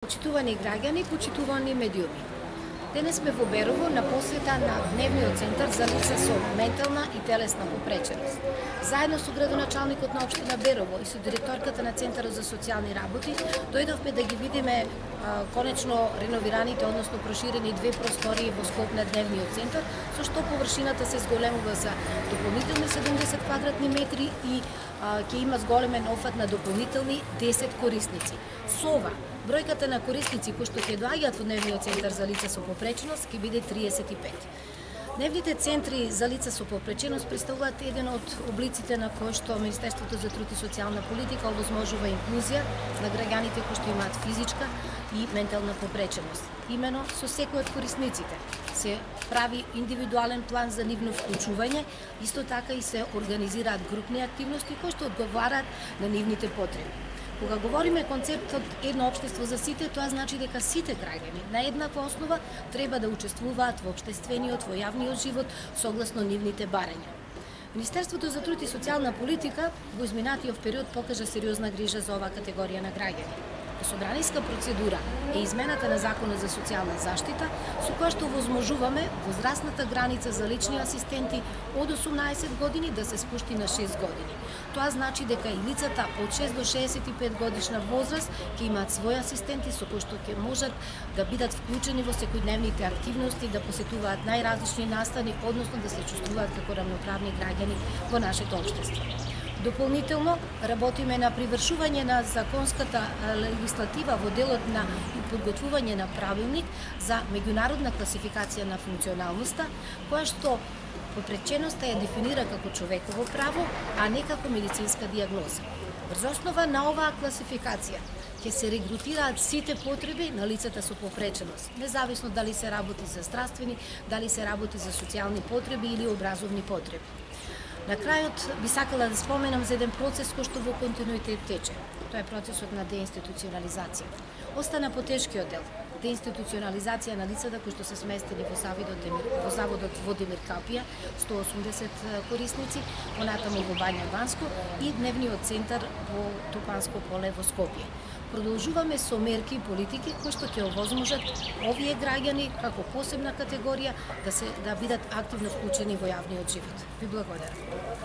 Почитувани граѓани, почитувани медиуми. Денес сме во Берово на посета на Дневниот центар за лица со ментална и телесна попреченост. Заедно со градоначалникот на општина Берово и со директорката на Центарот за социјални работи дојдовме да ги видиме конечно реновираните, односно проширени две простории во склоп на Дневниот центар, со што површината се зголемува за дополнителни 70 квадратни метри и ќе има зголемен офат на дополнителни 10 корисници. Со ова, бројката на корисници кои што ќе доаѓаат во Дневниот центар за лица со попреченост ќе биде 35. Дневните центри за лица со попреченост представуваат еден од облиците на кој што Министерството за труд и социјална политика овозможува инклузија на граѓаните кои што имаат физичка и ментална попреченост. Имено со секој од корисниците се прави индивидуален план за нивно вклучување, исто така и се организираат групни активности кои што одговараат на нивните потреби. Кога говориме концептот едно општество за сите, тоа значи дека сите граѓани на еднаква основа треба да учествуваат во општествениот, во јавниот живот согласно нивните барања. Министерството за труд и социјална политика во изминатиот период покажа сериозна грижа за оваа категорија на граѓани. По собраниска процедура е измената на Законот за социјална заштита, со која што овозможуваме возрастната граница за лични асистенти од 18 години да се спушти на 6 години. Тоа значи дека и лицата од 6 до 65 годишна возраст ќе имаат своји асистенти со кои што ќе можат да бидат вклучени во секојдневните активности, да посетуваат најразлични настани, односно да се чувствуваат како рамноправни граѓани во нашето општество. Дополнително, работиме на привршување на законската легислатива во делот на подготвување на правилник за меѓународна класификација на функционалноста, која што попреченоста ја дефинира како човеково право, а не како медицинска дијагноза. Врз основа на оваа класификација ќе се регрутираат сите потреби на лицата со попреченост, независно дали се работи за здравствени, дали се работи за социјални потреби или образовни потреби. На крајот би сакала да споменам за еден процес кој што во континуитет тече. Тоа е процесот на деинституционализација. Остана потешкиот дел, деинституционализација на лицата кои што се сместени во заводот во Демир Капија, 180 корисници, понатаму во Бања Ванско и Дневниот центар во Топанско поле во Скопје. Продолжуваме со мерки и политики кои што ќе овозможат овие граѓани како посебна категорија да бидат активно вклучени во јавниот живот. Ви благодарам.